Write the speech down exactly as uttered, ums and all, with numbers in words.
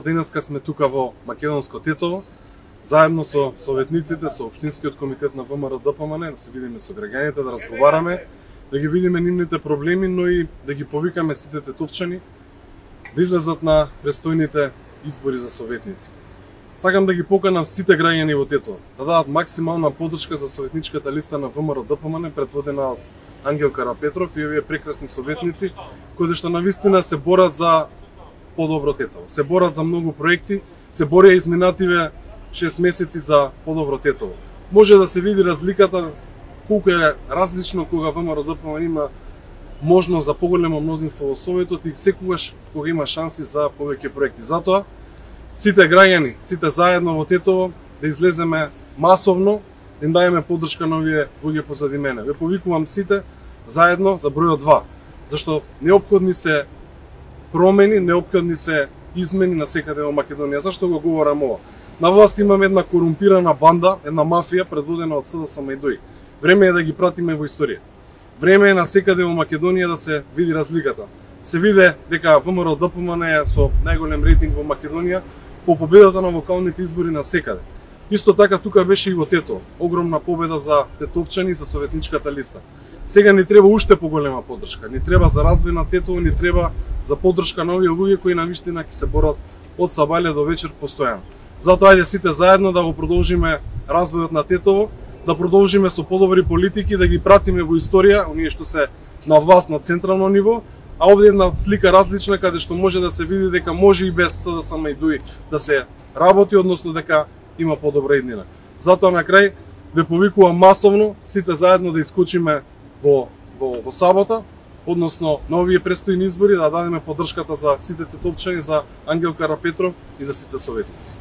Денеска сме тука во Македонско Тетово, заедно со советниците, со Општинскиот комитет на ВМРО-ДПМН, да се видиме со граѓаните, да разговараме, да ги видиме нивните проблеми, но и да ги повикаме сите тетовчани да излезат на престојните избори за советници. Сакам да ги поканам сите граѓани во Тетово да дадат максимална поддршка за советничката листа на ВМРО-ДПМН, предводена од Ангел Карапетров и овие прекрасни советници кои што навистина се борат за подобро Тетово. Се борат за многу проекти, се борија изминативе шест месеци за подобро Тетово. Може да се види разликата колку е различно кога ВМРО-ДПМН има можност за поголемо мнозинство во Советот и секогаш кога има шанси за повеќе проекти. Затоа сите граѓани, сите заедно во Тетово да излеземе масовно, да им даеме поддршка на овие луѓе позади мене. Ве повикувам сите заедно за бројот два, зашто неопходни се промени, неопходни се измени на секаде во Македонија. Зашто го говорам ова? На власт имаме една корумпирана банда, една мафија предводена од СДСМ и ДОИ. Време е да ги пратиме во историја. Време е на секаде во Македонија да се види разликата. Се виде дека ВМРО-ДПМН е со најголем рейтинг во Македонија по победата на локалните избори на секаде. Исто така тука беше и во Тетово. Огромна победа за тетовчани за советничката листа. Сега ни треба уште поголема поддршка. Ни треба за развој на Тетово, ни треба за поддршка на овие луѓе кои навистина ќе се борат од сабајле до вечер постојано. Затоа ајде сите заедно да го продолжиме развојот на Тетово, да продолжиме со подобри политики, да ги пратиме во историја, оние што се на власт на централно ниво, а овде една слика различна каде што може да се види дека може и без СДСМ и ДОИ да се работи, односно дека има подобра иднина. Затоа на крај ве повикувам масовно сите заедно да искочиме во во во сабота, односно на овие престојни избори, да дадеме поддршката за сите тетовчани, за Ангел Карапетров и за сите советници.